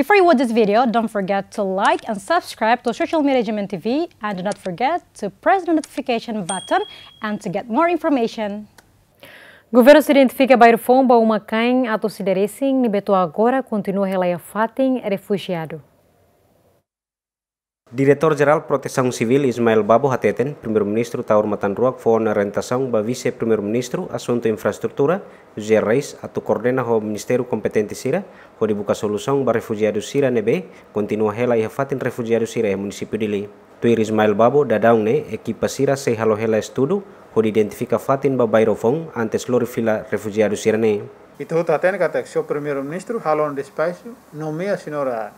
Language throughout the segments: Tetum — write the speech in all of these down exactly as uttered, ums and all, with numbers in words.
Before you watch this video, don't forget to like and subscribe to Social Media G M N T V, and do not forget to press the notification button and to get more information. Governu sei identifika bairru foun ba uma-kain atus ida resin ne'ebé to'o agora kontinua hela iha fatin refujiadu. Diretór Jerál Protesaun Sivíl Ismael Babo hateten, Primeiru-Ministru Taur Matan Ruak fó ona orientasaun ba Vise-Primeiru-Ministru Asuntu Infraestrutura, José Reis, atu koordena ho ministériu kompetente sira, hodi buka solusaun ba refujiadu sira ne'ebé kontinua hela iha fatin refujiadu sira iha munisípiu Dili. Tuir Ismael Babo, daudaun ne'e ekipa sira sei halo hela estudu hodi identifika fatin ba bairru foun antes lori fila refujiadu sira-ne'e. Ita hotu hatene katak señór Primeiru-Ministru halo ona despaxu, nomeia señora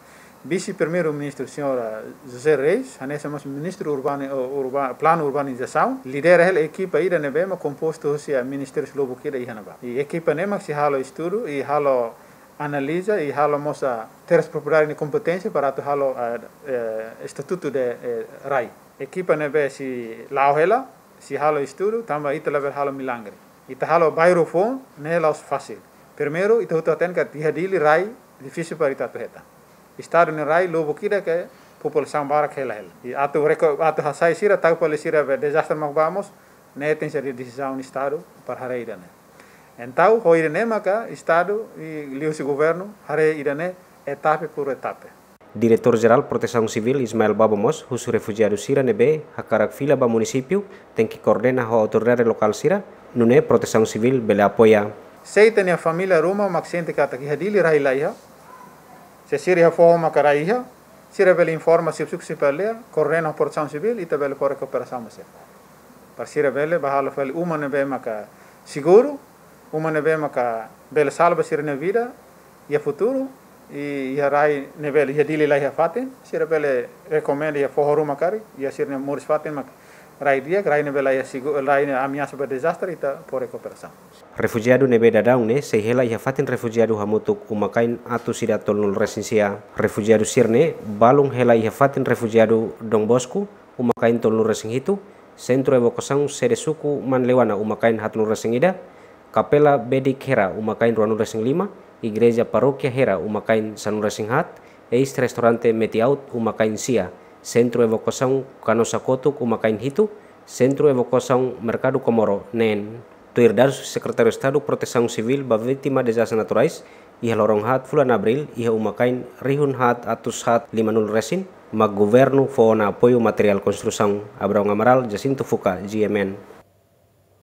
Vise-Primeiru-Ministru, señora José Reis, hanesan mós Ministru Urbani-, Urba-, Planu Urbanizasaun, lidera hela ekipa ida ne'ebé mak kompostu husi ministériu lubuk ida iha ne'ebá. I ekipa ne'e mak sei halo estudu, i halo analiza, i halo mós terras propriedade nia kompeténsia para atu halo, eh, eh, estatutu de, eh, rai. Ekipa ne'ebé sei la'o hela, sei halo estudu, tanba ita labele halo milagre. Ita halo bairru foun, ne'e la'ós fasil. Primeiru, ita hotu hatene katak iha Dili rai difisil para ita atu hetan. Estadu nia rai lubuk ida ke populasaun barak hela hela. I atu reko-, atu hasai sira, tau fali sira be dezastre mak ba mós, ne'e tenke ser desizaun Estadu para haree ida-ne'e. Entaun, ho ida-ne'e maka Estadu i liuhusi governu haree ida-ne'e etapa por etapa. Diretór Jerál Protesaun Sivíl Ismael Babo mós husu refujiadu sira ne'ebé hakarak fila ba munisípiu tenke koordena ho autoridade lokál sira, nune'e Protesaun Sivíl bele apoia. Se ita-nia família ruma mak sente katak iha Dili rai laiha, se sira iha foho maka rai iha, sira bele informa xefe suku, xefe aldeia, koordena ho Protesaun Sivíl, ita bele fó rekuperasaun ba sira. Para sira bele bá halo fali uma ne'ebé maka seguru, uma ne'ebé maka bele salva sira-nia vida iha futuru, i iha rai ne'ebé iha Dili laiha fatin, sira bele rekomenda iha foho ruma karik, iha sira-nia moris fatin mak rai di'ak, rai ne'ebé laiha segu-, rai ne'e ameasa ba dezastre, ita fó rekuperasaun. Refujiadu ne'ebé daudaun ne'e sei hela iha fatin refujiadu hamutuk uma-kain atus ida tolunulu resin sia. Refujiadu sira-ne'e balun hela iha fatin refujiadu Don Bosco, uma-kain tolunulu resin hitu, Sentru Evakuasaun Sede Suku Manleuana, uma-kain haatnulu resin ida, Kapela Bedik Hera, uma-kain ruanulu resin lima, Igreja Parókia Hera, uma-kain sanulu resin haat, eis-restaurante Metiaut, uma-kain sia, Sentru Evakuasaun Kanosa Kotuk, uma-kain hitu, Sentru Evakuasaun Merkadu Komoro, neen. Tuir dadus Sekretáriu Estadu Protesaun Sivíl ba Vítima Dezastres Naturais, iha loron haat fulan Abríl, iha uma-kain rihun haat atus haat limanulu resin, mak governu fó ona apoiu materiál konstrusaun. Abraão Amaral, Jacinto Fuca, G M N.